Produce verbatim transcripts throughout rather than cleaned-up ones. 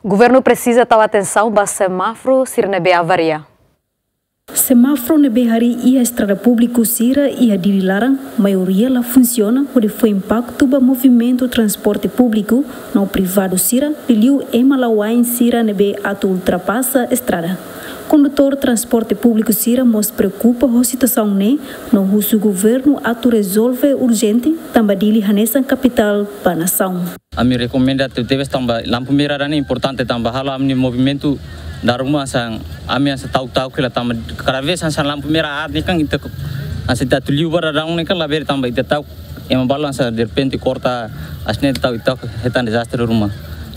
Governu presiza tau atensaun ba semáforu sira ne'ebé avaria. Semáforu ne'ebé harii iha estrada públiku sira iha Dili laran, maioria la funsiona, hodi fó impaktu ba movimentu transporte públiku no privadu sira, liuliu ema la'o ain sira ne'ebé atu ultrapasa estrada. Kondutór transporte públiku sira mós preokupa ho situasaun ne'e, no husu governu atu rezolve urjente, tanba Dili hanesan kapitál ba nasaun. Ami rekomenda tebetebes tanba lampu merah ida-ne'e importante tanba halo ami-nia movimentu dala ruma hanesan ami hanesan ta'uk-ta'uk hela tanba kada vez hanesan lampu merah aat ne'e kan ita hanesan ita atu liu ba daudaun ne'e kan labele tanba ita ta'uk ema balu hanesan derrepente korta aas ne'e ta'uk ita hetan dezastre ruma.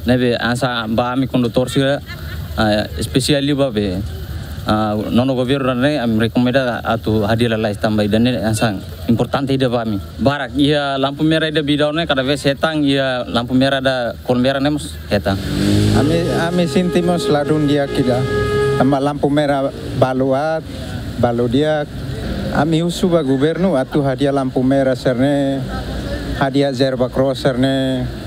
Ne'ebé hanesan ba ami kondutór sira, ah, espesiál liu ba be, ah, nono governu ida-ne'e ami rekomenda atu hadi'a lalais tanba ida-ne'e hanesan importante ida ba ami. Barak iha lampu merah ida ba daudaun ne'e kada vez hetan iha lampu merah ida kol merah ne'e mós hetan. Ami, ami sente mós ladún di'ak ida. Tanba lampu merah balu aat, balu di'ak. Ami husu ba governu atu hadi'a lampu merah sira-ne'e, hadi'a zebra cross sira-ne'e.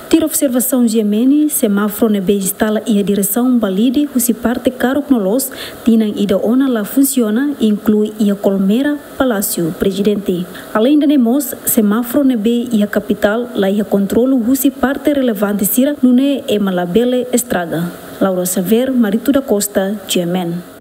Tuir observasaun G M N, semáforu ne'ebé instala iha diresaun Balide husi parte karuk no loos, tinan ida ona la funsiona, inklui iha kol merah Palásiu Prezidente. Aleinde ne'e mós, semáforu ne'ebé iha kapitál la iha kontrolu husi parte relevante sira, nune'e ema labele estraga. Laura Xavier, Marito da Costa, G M N.